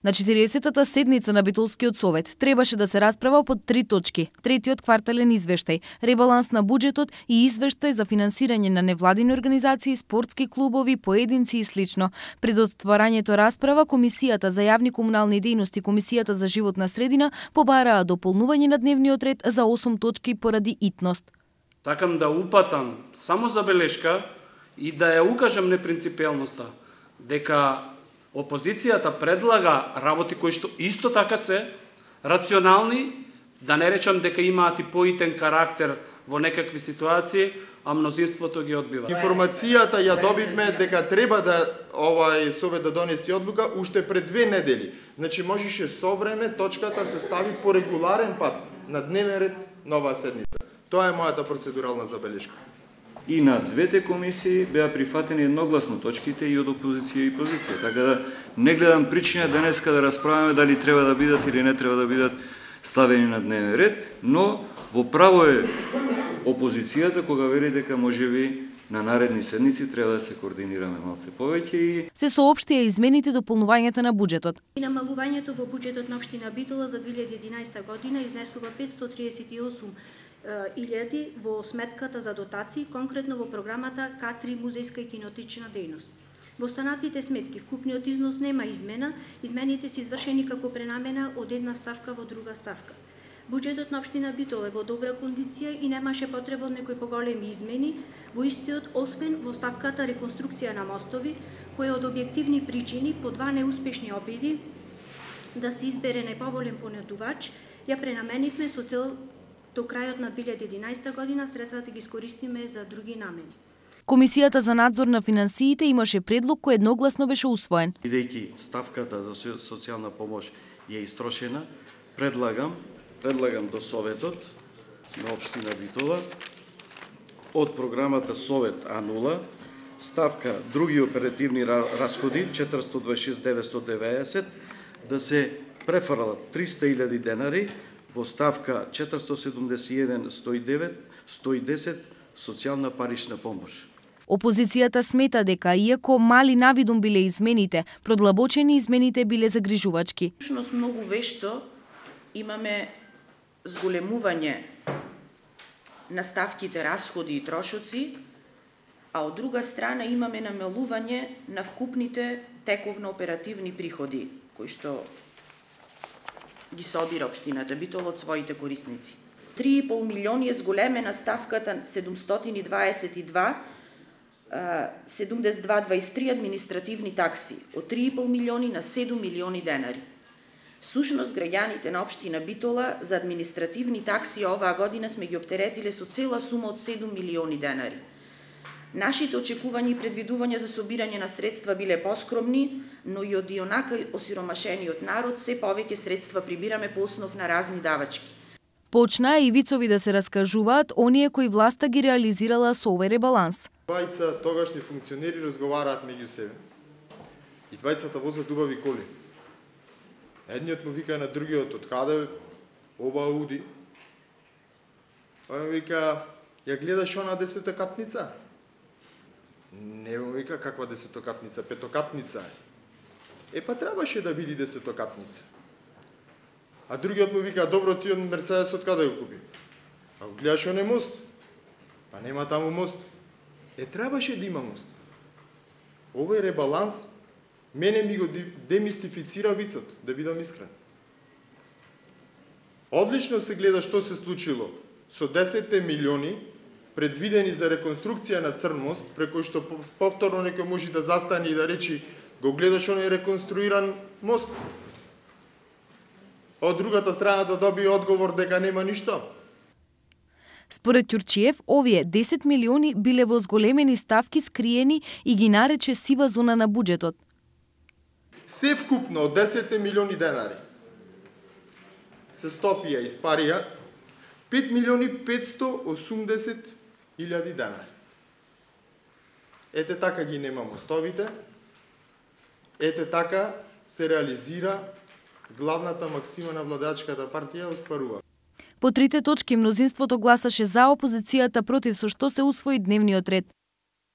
На 40-та седница на Битолскиот совет требаше да се расправа по 3 точки: третиот квартален извештај, ребаланс на буџетот и извештај за финансирање на невладини организации, спортски клубови, поединци и слично. Пред отварањето расправа, Комисијата за јавни комунални дејности и Комисијата за животна средина побараа дополнување на дневниот ред за 8 точки поради итност. Сакам да упатам само забелешка и да ја укажам непринципиалноста дека опозицијата предлага работи кои што исто така се рационални, да не речам дека имаат и поитен карактер во некакви ситуации, а мнозинството ги одбива. Информацијата ја добивме дека треба да овај совет да донесе одлука уште пред 2 недели. Значи можеше со време точката се стави по регуларен пат на дневен ред на оваа седница. Тоа е мојата процедурална забелешка. И на двете комисии беа прифатени едногласно точките и од опозиција и позиција. Така да не гледам причина денеска да расправаме дали треба да бидат или не треба да бидат ставени на дневен ред, но во право е опозицијата кога вели дека можеби на наредни седници треба да се координираме малце повеќе и се соопштија измените дополнувањата на буџетот. Намалувањето во буџетот на општина Битола за 2011 година изнесува 538 илјади во сметката за дотации, конкретно во програмата К3 музејска и кинотична дејност. Во останатите сметки вкупниот износ нема измена, измените се извршени како пренамена од една ставка во друга ставка. Буџетот на општина Битола е во добра кондиција и немаше потреба од некои поголеми измени во истиот, освен во ставката реконструкција на мостови, која од објективни причини по 2 неуспешни обиди да се избере најповолен понудувач, ја пренаменивме со цел до крајот на 2011 година средствата ги искористиме за други намени. Комисијата за надзор на финансиите имаше предлог кој едногласно беше усвоен. Бидејќи ставката за социјална помош е истрошена, предлагам до Советот на општина Битола од програмата Совет А0 ставка други оперативни расходи 426.990 да се префрлат 300.000 денари во ставка 471.110 социјална парична помош. Опозицијата смета дека иако мали навидум биле измените, продлабочени измените биле загрижувачки. Всушност многу вешто имаме зголемување на ставките расходи и трошоци, а од друга страна имаме намалување на вкупните тековно оперативни приходи, кои што ги собира општината Битола од своите корисници. 3,5 милиони е зголемена ставката 7223 административни такси, од 3,5 милиони на 7 милиони денари. Всушност, граѓаните на општина Битола за административни такси оваа година сме ги оптеретиле со цела сума од 7 милиони денари. Нашите очекувања и предвидувања за собирање на средства биле поскромни, но и од ионака осиромашениот народ се повеќе средства прибираме по основ на разни давачки. Почнаа и вицови да се раскажуваат оние кои власта ги реализирала со овој ребаланс. Двајца тогашни функционери разговараат меѓу себе. И двајцата возат убави коли. Едниот му вика на другиот, од каде ова ауди? Ој му вика, ја гледаш она десетокатница? Не му вика каква десетокатница, петокатница е. Па требаше да биде десетокатница. А другиот му вика, добро, ти од Мерцедес од каде го купи? А го гледаш оне мост? Па нема таму мост. Требаше да има мост. Овој ребаланс мене ми го демистифицира вицот, да бидам искрен. Одлично се гледа што се случило со 10 милиони предвидени за реконструкција на Црн мост, преко што повторно некој може да застане и да речи го гледаш оној реконструиран мост. Од другата страна да добие одговор дека нема ништо. Според Ќурчиев, овие 10 милиони биле во зголемени ставки скриени и ги нарече сива зона на буџетот. Се вкупно од 10 милиони денари се стопија и спарија 5 милиони 580 илјади денари. Ете така ги нема мостовите, ете така се реализира главната максима на владачката партија остварува. По трите точки мнозинството гласаше за, опозицијата против, со што се усвои дневниот ред.